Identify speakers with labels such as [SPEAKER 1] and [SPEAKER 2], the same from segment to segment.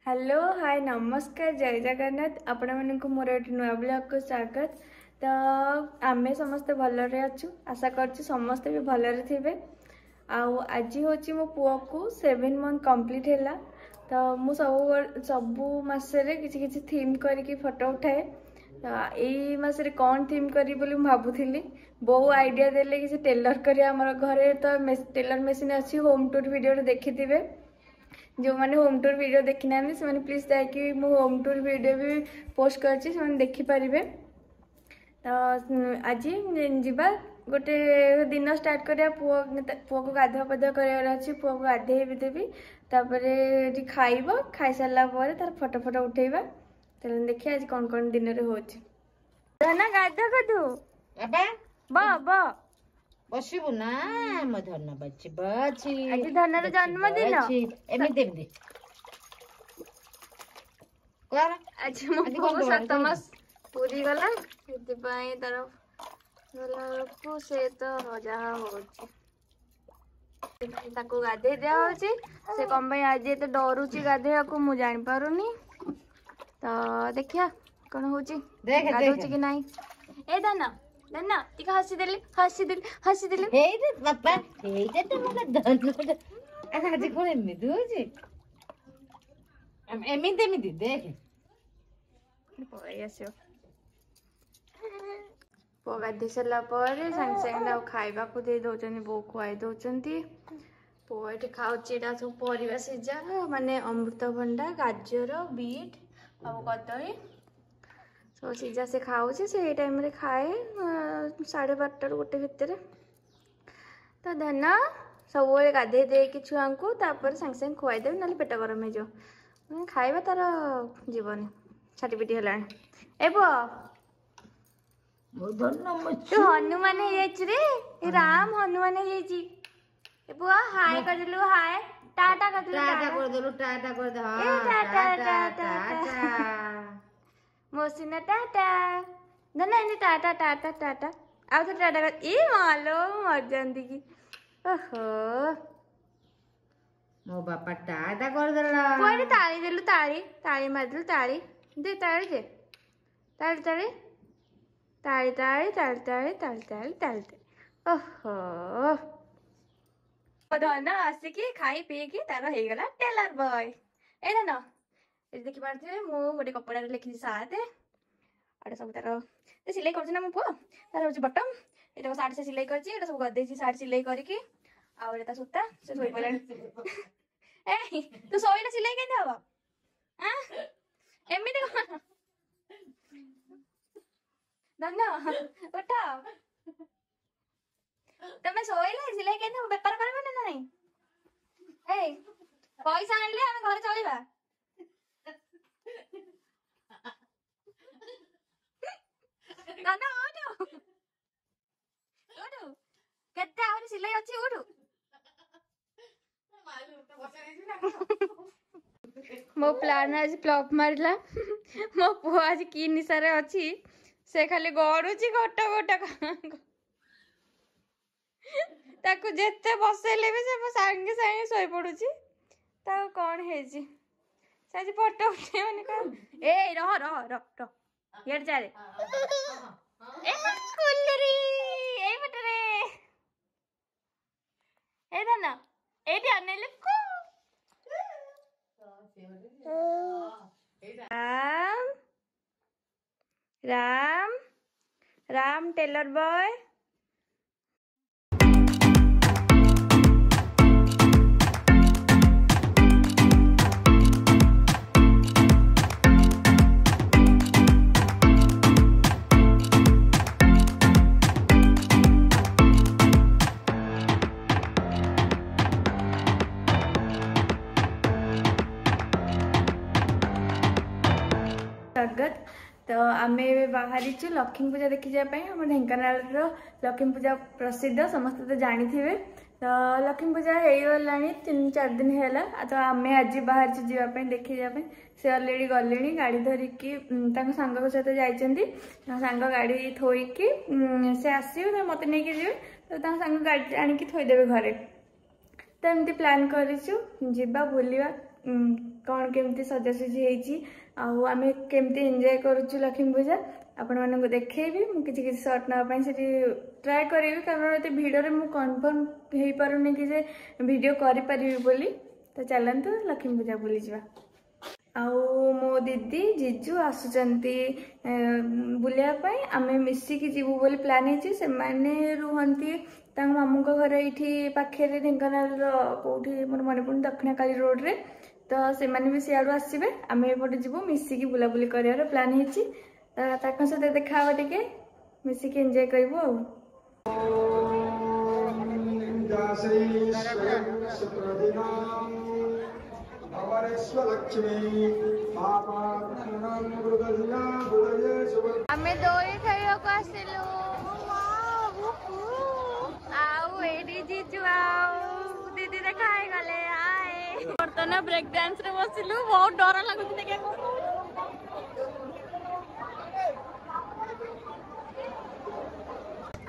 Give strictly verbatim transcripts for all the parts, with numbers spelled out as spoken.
[SPEAKER 1] Hello hi ନମସ୍କାର ଜୟ ଜଗନ୍ନାଥ ଆପଣମାନଙ୍କୁ ମୋର ଏଠି ନୂଆ ବ୍ଲଗ୍କୁ ସ୍ୱାଗତ ତ ଆମେ ସମସ୍ତେ ଭଲରେ ଅଛୁ ଆଶା କରୁଛୁ ସମସ୍ତେ ବି ଭଲରେ ଥିବେ ଆଉ ଆଜି ହେଉଛି ମୋ ପୁଅକୁ ସେଭେନ୍ ମନ୍ଥ କମ୍ପ୍ଲିଟ୍ ହେଲା ତ ମୁଁ ସବୁ ସବୁ ମାସରେ କିଛି କିଛି ଥିମ୍ କରିକି ଫଟୋ ଉଠାଏ ତ ଏଇ ମାସରେ କ'ଣ ଥିମ୍ କରିବି ବୋଲି ମୁଁ ଭାବୁଥିଲି ବୋଉ ଆଇଡ଼ିଆ ଦେଲେ କିଛି ଟେଲର୍ କରିବା ଆମର ଘରେ ତ ଟେଲର୍ ମେସିନ୍ ଅଛି ହୋମ୍ ଟୁର୍ ଭିଡ଼ିଓରେ ଦେଖିଥିବେ ଯେଉଁମାନେ ହୋମ୍ ଟୁର୍ ଭିଡ଼ିଓ ଦେଖିନାହାନ୍ତି ସେମାନେ ପ୍ଲିଜ୍ ଯାଇକି ମୁଁ ହୋମ୍ ଟୁର୍ ଭିଡ଼ିଓ ବି ପୋଷ୍ଟ କରିଛି ସେମାନେ ଦେଖିପାରିବେ ତ ଆଜି ଯିବା ଗୋଟେ ଦିନ ଷ୍ଟାର୍ଟ କରିବା ପୁଅ ପୁଅକୁ ଗାଧୁଆ ପାଧୁଆ କରିବାର ଅଛି ପୁଅକୁ ଗାଧେଇ ବି ଦେବି ତାପରେ ଏଠି ଖାଇବ ଖାଇସାରିଲା ପରେ ତାର ଫଟୋ ଫଟୋ ଉଠେଇବା ତାହେଲେ ଦେଖିବା ଆଜି କ'ଣ କ'ଣ ଦିନରେ ହେଉଛି ଧନ ଗାଧୁ ଗାଧୁ
[SPEAKER 2] ବାବା
[SPEAKER 1] ବ ବ
[SPEAKER 2] ବସିବୁ ନା ମୋ ଧନ ବଛି ବଛି
[SPEAKER 1] ଆଜି ଧନର ଜନ୍ମଦିନ
[SPEAKER 2] ଏମିତି ଏମିତି କର
[SPEAKER 1] ଆଜି ମୋ
[SPEAKER 2] ଆଜି
[SPEAKER 1] ପୁଅକୁ
[SPEAKER 2] କଣ
[SPEAKER 1] ସାତ ମାସ ପୁରି ଗଲା ସେଥିପାଇଁ ତାର ଗଲା ବେଳକୁ ସେ ତ ଯାହା ହଉଛି ସେଥିପାଇଁ ତାକୁ ଗାଧେଇ ଦିଆ ହଉଛି ସେ କଣ ପାଇଁ ଆଜି ଏତେ ଡରୁଛି ଗାଧେଇବାକୁ ମୁଁ ଜାଣିପାରୁନି ତ ଦେଖିବା କଣ ହଉଛି
[SPEAKER 2] ଦେଖେ
[SPEAKER 1] ଗାଧଉଛି
[SPEAKER 2] ଦେଖେ
[SPEAKER 1] କି ନାହିଁ ଏ ଧନ ଧନ ଟିକେ ହସିଦେଲି ହସିଦେଲି ହସିଦେଲି
[SPEAKER 2] ଏଇଟା ବାପା ଏଇଟା ତ ମୋର ଧନ ଆଜି କଣ ଏମିତି ହଉଛି ଏମିତି ଏମିତି ଦେଖେ
[SPEAKER 1] ପଳେଇ ଆସିବ ପୁଅ ଗାଧେଇ ସାରିଲା ପରେ ସାଙ୍ଗେ ସାଙ୍ଗେ ତାକୁ ଖାଇବାକୁ ଦେଇ ଦଉଛନ୍ତି ବୋଉ ଖୁଆଇ ଦଉଛନ୍ତି ପୁଅ ଏଠି ଖାଉଛି ଏଇଟା ସବୁ ପରିବା ସିଝା ମାନେ ଅମୃତଭଣ୍ଡା ଗାଜର ବିଟ୍ ଆଉ କଦଳୀ ସବୁ ସିଝା ସେ ଖାଉଛି ସେ ଏଇ ଟାଇମ୍ରେ ଖାଏ ସାଢ଼େ ବାରଟାରୁ ଗୋଟେ ଭିତରେ ତ ଧନ ସବୁବେଳେ ଗାଧେଇ ଦେଇକି ଛୁଆଙ୍କୁ ତାପରେ ସାଙ୍ଗେ ସାଙ୍ଗେ ଖୁଆଇଦେବେ ନହେଲେ ପେଟ ଗରମ ହେଇଯିବ ମାନେ ଖାଇବା ତାର ଯିବନି ଛାଟି ପିଟି ହେଲାଣି ଏ ପୁଅ
[SPEAKER 2] ମୋ ଧନ ମୋ
[SPEAKER 1] ତୁ ହନୁମାନ ହେଇଯାଇଛି ରେ ଏ ରାମ ହନୁମାନ ହେଇଯାଇଛି ଏ ପୁଅ ହାଏ କରିଦେଲୁ ହାଏ ଟାଟା କରିଦେଲୁ
[SPEAKER 2] ଟାଟା
[SPEAKER 1] ଟାଟା
[SPEAKER 2] କରିଦେଲୁ ଟାଟା କରିଦେ
[SPEAKER 1] ଏ
[SPEAKER 2] ହଁ
[SPEAKER 1] ଟାଟା,
[SPEAKER 2] ଟାଟା
[SPEAKER 1] ଟାଟା,
[SPEAKER 2] ଟାଟା
[SPEAKER 1] ମୋସିନା ଟାଟା ନା ନା ଏମିତି ଟାଟା ଟାଟା ଟାଟା ଆଉ ଥରେ ଟାଟା କର ଇ ମାଲୋ ମରିଯାନ୍ତି କି ଓହୋ
[SPEAKER 2] ମୋ ବାପା ଟାଟା କରିଦେଲା
[SPEAKER 1] ପୁଅ ଏଠି ତାଳି ଦେଲୁ ତାଳି ତାଳି ମାରିଦେଲୁ ତାଳି ଦେ ତାଳି ଦେ ତାଳି ତାଳି ତାଳି ତାଳି ତାଳି ତାଳି ତାଳି ତାଳି ତାଳି ତାଳି ଓହୋ ଧନ ଆସିକି ଖାଇ ପିଇକି ତାର ହେଇଗଲା ଟେଲର ବୟ ଏ ଧନ ଏଠି ଦେଖିପାରୁଥିବେ ମୁଁ ଗୋଟେ କପଡ଼ାରେ ଲେଖିଛି ସାତ ଏଇଟା ସବୁ ତାର ସେ ସିଲେଇ କରୁଛି ନା ମୋ ପୁଅ ତାର ହଉଛି ବଟମ ଏଇଟା ସାର୍ଟ ସେ ସିଲେଇ କରିଛି ଏଇଟା ସବୁ ଗଦେଇଛି ସାର୍ଟ ସିଲେଇ କରିକି ଆଉ ଏଇଟା ତା ସୂତା ସେ ଶୋଇପଡ଼ିଲାଣି ଏ ତୁ ଶୋଇଲେ ସିଲେଇ କେମିତି ହବ ଆଁ ଏମିତି କଣ ଧନ ଉଠ ତମେ ଶୋଇଲେ ସିଲେଇ କେମିତି ହବ ବେପାର କରିବ ନା ନାଇଁ ଏଇ ପଇସା ଆଣିଲେ ଆମେ ଘରେ ଚଳିବା ଧନ ଉଠୁ ଉଠୁ କେତେ ଆହୁରି ସିଲେଇ ଅଛି ଉଠୁ ମୋ ପ୍ଲାନ୍ ଆଜି ଫ୍ଲପ୍ ମାରିଲା ମୋ ପୁଅ ଆଜି କି ନିଶାରେ ଅଛି ସେ ଖାଲି ଗଡୁଛି ଗୋଟ ଗୋଟ ତାକୁ ଯେତେ ବସେଇଲେ ବି ସେ ସାଙ୍ଗେ ସାଙ୍ଗେ ଶୋଇପଡୁଛି ତାକୁ କଣ ହେଇଛି ସେ ଆଜି ଫଟୋ ଉଠେଇବନି କଣ ଏଇ ରହ ରହ ରହ ରହ ଇଆଡ଼େ ଚାଲେ ଏ କୁଲୁରି ଏଇ ପଟରେ ଏଇ ଧନ ଏଇଠି ଅନେଇଲେ କୁ ରାମ ରାମ ରାମ ଟେଲର ବୟ ସ୍ୱାଗତ ତ ଆମେ ଏବେ ବାହାରିଛୁ ଲକ୍ଷ୍ମୀ ପୂଜା ଦେଖିଯିବା ପାଇଁ ଆମ ଢେଙ୍କାନାଳର ଲକ୍ଷ୍ମୀ ପୂଜା ପ୍ରସିଦ୍ଧ ସମସ୍ତେ ତ ଜାଣିଥିବେ ତ ଲକ୍ଷ୍ମୀ ପୂଜା ହେଇଗଲାଣି ତିନି ଚାରି ଦିନ ହେଲା ତ ଆମେ ଆଜି ବାହାରିଛୁ ଯିବା ପାଇଁ ଦେଖିଯିବା ପାଇଁ ସେ ଅଲରେଡ଼ି ଗଲେଣି ଗାଡ଼ି ଧରିକି ଉଁ, ତାଙ୍କ ସାଙ୍ଗଙ୍କ ସହିତ ଯାଇଛନ୍ତି ତାଙ୍କ ସାଙ୍ଗ ଗାଡ଼ି ଥୋଇକି ଉଁ, ସେ ଆସିବେ ତ ମୋତେ ନେଇକି ଯିବେ ତ ତାଙ୍କ ସାଙ୍ଗ ଗାଡ଼ି ଆଣିକି ଥୋଇଦେବେ ଘରେ ତ ଏମିତି ପ୍ଲାନ୍ କରିଛୁ ଯିବା ବୁଲିବା ଉଁ, କ'ଣ କେମିତି ସଜାସଜି ହେଇଛି ଆଉ ଆମେ କେମିତି ଏନ୍ଜୟ କରୁଛୁ ଲକ୍ଷ୍ମୀ ପୂଜା ଆପଣମାନଙ୍କୁ ଦେଖେଇବି। ମୁଁ କିଛି କିଛି ସର୍ଟ ନେବା ପାଇଁ ସେଠି ଟ୍ରାଏ କରିବି, କାରଣ ଏତେ ଭିଡ଼ରେ ମୁଁ କନଫର୍ମ ହେଇପାରୁନି କି ଯେ ଭିଡ଼ିଓ କରିପାରିବି ବୋଲି। ତ ଚାଲନ୍ତୁ ଲକ୍ଷ୍ମୀ ପୂଜା ବୁଲିଯିବା। ଆଉ ମୋ ଦିଦି ଜିଜୁ ଆସୁଛନ୍ତି ବୁଲିବା ପାଇଁ, ଆମେ ମିଶିକି ଯିବୁ ବୋଲି ପ୍ଲାନ୍ ହେଇଛି। ସେମାନେ ରୁହନ୍ତି ତାଙ୍କ ମାମୁଁଙ୍କ ଘର ଏଇଠି ପାଖରେ, ଢେଙ୍କାନାଳର କେଉଁଠି ମୋର ମନେ ପଡ଼ୁନି, ଦକ୍ଷିଣକାଳୀ ରୋଡ଼ରେ। ତ ସେମାନେ ବି ସିଆଡ଼ୁ ଆସିବେ, ଆମେ ଏପଟେ ଯିବୁ, ମିଶିକି ବୁଲାବୁଲି କରିବାର ପ୍ଲାନ୍ ହେଇଛି। ତ ତାଙ୍କ ସହିତ ଦେଖା ହବ, ଟିକେ ମିଶିକି ଏନ୍ଜୟ କରିବୁ। ଆଉ ଆମେ ଦୋଳି ଖେଳିବାକୁ ଆସିଲୁ, ଆଉ ଏଇଠି ଜିଜୁ ଆଉ ଦିଦି ଦେଖା ହେଇଗଲେ। ବର୍ତ୍ତମାନ ବ୍ରେକ୍ ଡ୍ୟାନ୍ସ ରେ ବସିଲୁ, ବହୁତ ଡର ଲାଗୁଛି ଦେଖିବାକୁ।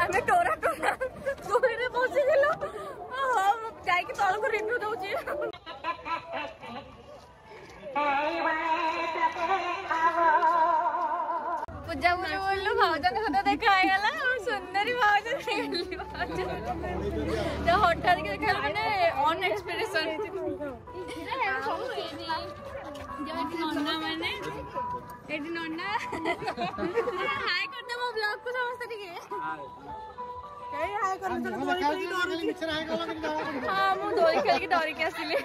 [SPEAKER 1] ଆମେ ଟୋରା ଟୋରା ଦୋଳିରେ ବସିଥିଲୁ, ଯାଇକି ତଳକୁ ରିଭ୍ୟୁ ଦଉଛି। ପୂଜା ବୁଲୁ ବୁଲୁ ଭାଉଜଙ୍କ ସହିତ ଦେଖା ହେଇଗଲା। ସୁନ୍ଦରୀ ଭାଉଜ ଦେଖାଗଲି, ଭାଉଜ ହଠାତ୍ କି ଦେଖା, ମାନେ ଅନଏକ୍ସପେକ୍ଟେସନ। ନନା ମାନେ ଏଠି, ନନା ହାଇ କରିଦେ ମୋ ବ୍ଲଗକୁ ସମସ୍ତେ ଟିକେ। ହଁ, ମୁଁ ଦୋଳି ଖେଳିକି ଡରିକି ଆସିଲି।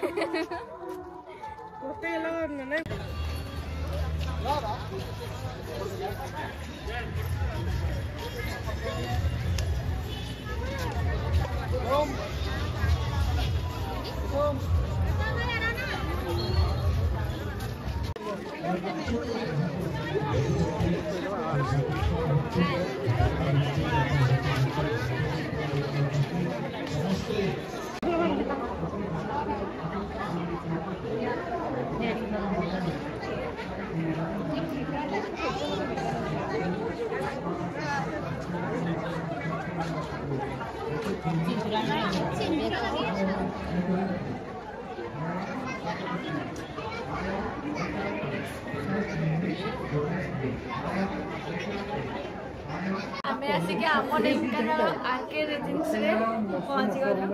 [SPEAKER 1] ଆମେ ଆସିକି ଆମ ଢେଙ୍କାନାଳ ଆର୍କେ ରେଜେନ୍ସିରେ ପହଞ୍ଚିଗଲୁ,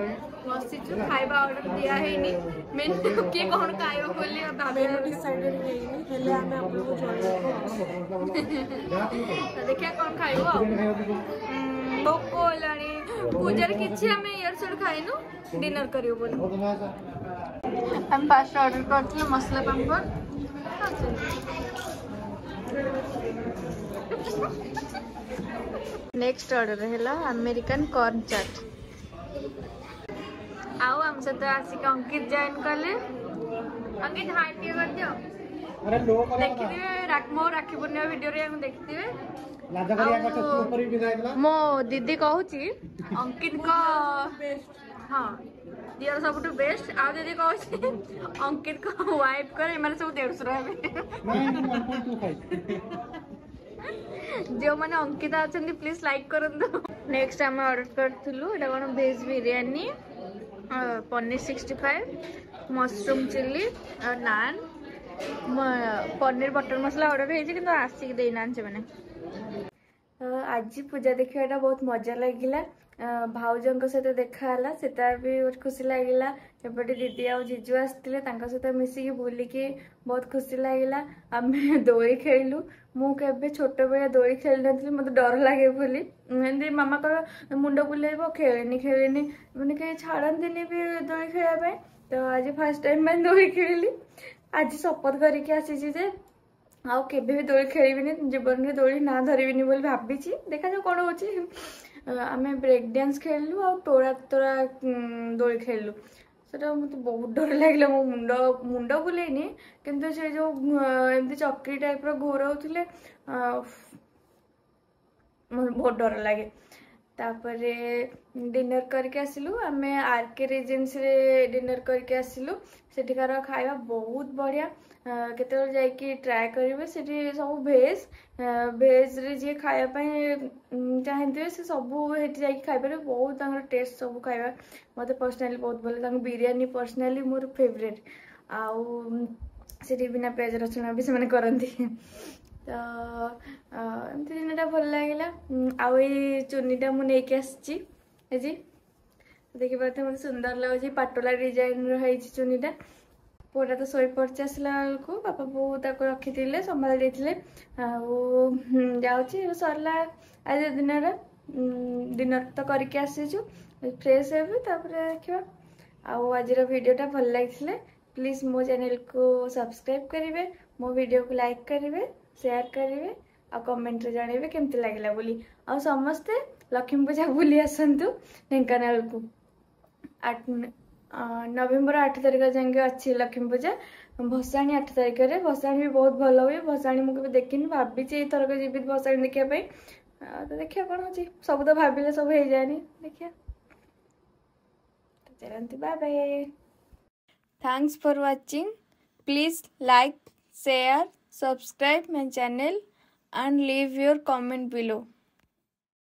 [SPEAKER 1] ବସିଛୁ। ଖାଇବା ଅର୍ଡର ଦିଆ ହେଇନି, ମେନୁ କିଏ କ'ଣ ଖାଇବ ବୋଲି
[SPEAKER 3] ମେନୁ ଡିସାଇଡେଡ୍ ହେଇନି, ହେଲେ ଆମେ ଆପଣଙ୍କୁ ଜଣେଇବୁ।
[SPEAKER 1] ଦେଖିବା କ'ଣ ଖାଇବୁ। ଆଉ ଭୋକ ହେଲାଣି, ପୂଜାରେ କିଛି ଆମେ ଇଆଡ଼ୁ ସିଆଡ଼ୁ ଖାଇନୁ, ଡିନର କରିବୁ ବୋଲି। ଆମେ ଫାଷ୍ଟ ଅର୍ଡର କରିଥିଲୁ ମସଲା ପାମ୍ପଡ଼। ନେକ୍ସଟ ଅର୍ଡର ହେଲା ଆମେରିକାନ କର୍ନ ଚାଟ୍। ଆଉ ଆମ ସହିତ ଆସିକି ଅଙ୍କିତ ଜଏନ୍ କଲେ। ଅଙ୍କିତ, ହାଇ ଟିକେ କରିଦିଅ। ଦେଖିଥିବେ ମୋ ରାକ୍ଷୀ ପୂର୍ଣ୍ଣିମା ଭିଡିଓରେ ଆମେ ଦେଖିଥିବେ। ମୋ ଦିଦି କହୁଛି ଅଙ୍କିତଙ୍କ, ହଁ, ଦିଅର ସବୁଠୁ ବେଷ୍ଟ। ଆଉ ଦିଦି କହୁଛି ଅଙ୍କିତଙ୍କ ୱାଇଫଙ୍କର ଏମାନେ ସବୁ ଦେଢ଼ଶୁର ହେବେ। ଯେଉଁମାନେ ଅଙ୍କିତା ଅଛନ୍ତି ପ୍ଲିଜ ଲାଇକ୍ କରନ୍ତୁ। ନେକ୍ସଟ ଆମେ ଅର୍ଡର କରିଥିଲୁ, ଏଇଟା କ'ଣ, veg biryani, paneer sixty five, mushroom chilli ଆଉ ନାନ୍। ପନିର ବଟର ମସଲା ଅର୍ଡର ହେଇଛି, କିନ୍ତୁ ଆସିକି ଦେଇନାହାନ୍ତି ସେମାନେ। ଆଜି ପୂଜା ଦେଖିବାଟା ବହୁତ ମଜା ଲାଗିଲା। ଭାଉଜଙ୍କ ସହିତ ଦେଖା ହେଲା, ସେଟା ବି ବହୁତ ଖୁସି ଲାଗିଲା। ଏପଟେ ଦିଦି ଆଉ ଜିଜୁ ଆସିଥିଲେ, ତାଙ୍କ ସହିତ ମିଶିକି ବୁଲିକି ବହୁତ ଖୁସି ଲାଗିଲା। ଆମେ ଦୋଳି ଖେଳିଲୁ। ମୁଁ କେବେ ଛୋଟବେଳେ ଦୋଳି ଖେଳି ନଥିଲି, ମୋତେ ଡର ଲାଗେ ବୋଲି। ଏମିତି ମାମା କହିବ ମୁଣ୍ଡ ବୁଲେଇବ, ଖେଳେନି ଖେଳେନି, ମାନେ କେହି ଛାଡ଼ନ୍ତିନି ବି ଦୋଳି ଖେଳିବା ପାଇଁ। ତ ଆଜି ଫାର୍ଷ୍ଟ ଟାଇମ୍ ପାଇଁ ଦୋଳି ଖେଳିଲି। ଆଜି ଶପଥ କରିକି ଆସିଛି ଯେ ଆଉ କେବେ ବି ଦୋଳି ଖେଳିବିନି, ଜୀବନରେ ଦୋଳି ନାଁ ଧରିବିନି ବୋଲି ଭାବିଛି। ଦେଖାଯାଉ କ'ଣ ହେଉଛି। ଆମେ ବ୍ରେକ୍ ଡ୍ୟାନ୍ସ ଖେଳିଲୁ ଆଉ ଟୋରା ତୋରା ଦୋଳି ଖେଳିଲୁ। ସେଟା ମୋତେ ବହୁତ ଡର ଲାଗିଲା। ମୋ ମୁଣ୍ଡ ମୁଣ୍ଡ ବୁଲେଇନି, କିନ୍ତୁ ସେ ଯେଉଁ ଏମିତି ଚକ୍ରି ଟାଇପ୍ର ଘୋରଉଥିଲେ, ମୋତେ ବହୁତ ଡର ଲାଗେ। ତାପରେ ଡିନର କରିକି ଆସିଲୁ। ଆମେ ଆର୍କେ ରେଜେନ୍ସିରେ ଡିନର କରିକି ଆସିଲୁ। ସେଠିକାର ଖାଇବା ବହୁତ ବଢ଼ିଆ, କେତେବେଳେ ଯାଇକି ଟ୍ରାଏ କରିବେ। ସେଠି ସବୁ ଭେଜ୍, ଭେଜ୍ରେ ଯିଏ ଖାଇବା ପାଇଁ ଚାହିଁଥିବେ ସେ ସବୁ ସେଠି ଯାଇକି ଖାଇପାରିବେ। ବହୁତ ତାଙ୍କର ଟେଷ୍ଟ ସବୁ ଖାଇବା ମୋତେ ପର୍ସନାଲି ବହୁତ ଭଲ। ତାଙ୍କ ବିରିୟାନୀ ପର୍ସନାଲି ମୋର ଫେଭରେଟ୍। ଆଉ ସେଠି ବିନା ପିଆଜ ରସୁଣ ବି ସେମାନେ କରନ୍ତି। ତ ଏମିତି ଦିନଟା ଭଲ ଲାଗିଲା। ଆଉ ଏଇ ଚୁନିଟା ମୁଁ ନେଇକି ଆସିଛି ଆଜି, ଦେଖିପାରୁଥିବେ ମୋତେ ସୁନ୍ଦର ଲାଗୁଛି। ପାଟୋଲା ଡିଜାଇନର ହେଇଛି ଚୁନିଟା। ପୁଅଟା ତ ଶୋଇପଡ଼ିଛି ଆସିଲା ବେଳକୁ, ବାପା ବୋଉ ତାକୁ ରଖିଥିଲେ, ସମ୍ଭାଳି ଦେଇଥିଲେ। ଆଉ ଯାଉଛି, ସରିଲା ଆଜି ଦିନର। ଡିନର ତ କରିକି ଆସିଛୁ, ଫ୍ରେଶ୍ ହେବି, ତାପରେ ଦେଖିବା। ଆଉ ଆଜିର ଭିଡ଼ିଓଟା ଭଲ ଲାଗିଥିଲେ ପ୍ଲିଜ୍ ମୋ ଚ୍ୟାନେଲକୁ ସବସ୍କ୍ରାଇବ୍ କରିବେ, ମୋ ଭିଡ଼ିଓକୁ ଲାଇକ୍ କରିବେ, ସେୟାର କରିବେ ଆଉ କମେଣ୍ଟରେ ଜଣାଇବେ କେମିତି ଲାଗିଲା ବୋଲି। ଆଉ ସମସ୍ତେ ଲକ୍ଷ୍ମୀ ପୂଜା ବୁଲି ଆସନ୍ତୁ ଢେଙ୍କାନାଳକୁ। ଆଠ ନଭେମ୍ବର ଆଠ ତାରିଖ ଯାଏଁ ଅଛି ଲକ୍ଷ୍ମୀ ପୂଜା, ଭସାଣି ଆଠ ତାରିଖରେ। ଭସାଣି ବି ବହୁତ ଭଲ ହୁଏ। ଭସାଣି ମୁଁ କେବେ ଦେଖିନି, ଭାବିଛି ଏଇଥରକ ଯିବି ଭସାଣି ଦେଖିବା ପାଇଁ। ତ ଦେଖିବା କ'ଣ ହେଉଛି, ସବୁ ତ ଭାବିଲେ ସବୁ ହେଇଯାଏନି, ଦେଖିବା। ଚାଲନ୍ତୁ, bye bye. Thanks for watching. Please like, share, subscribe my channel and leave your comment below.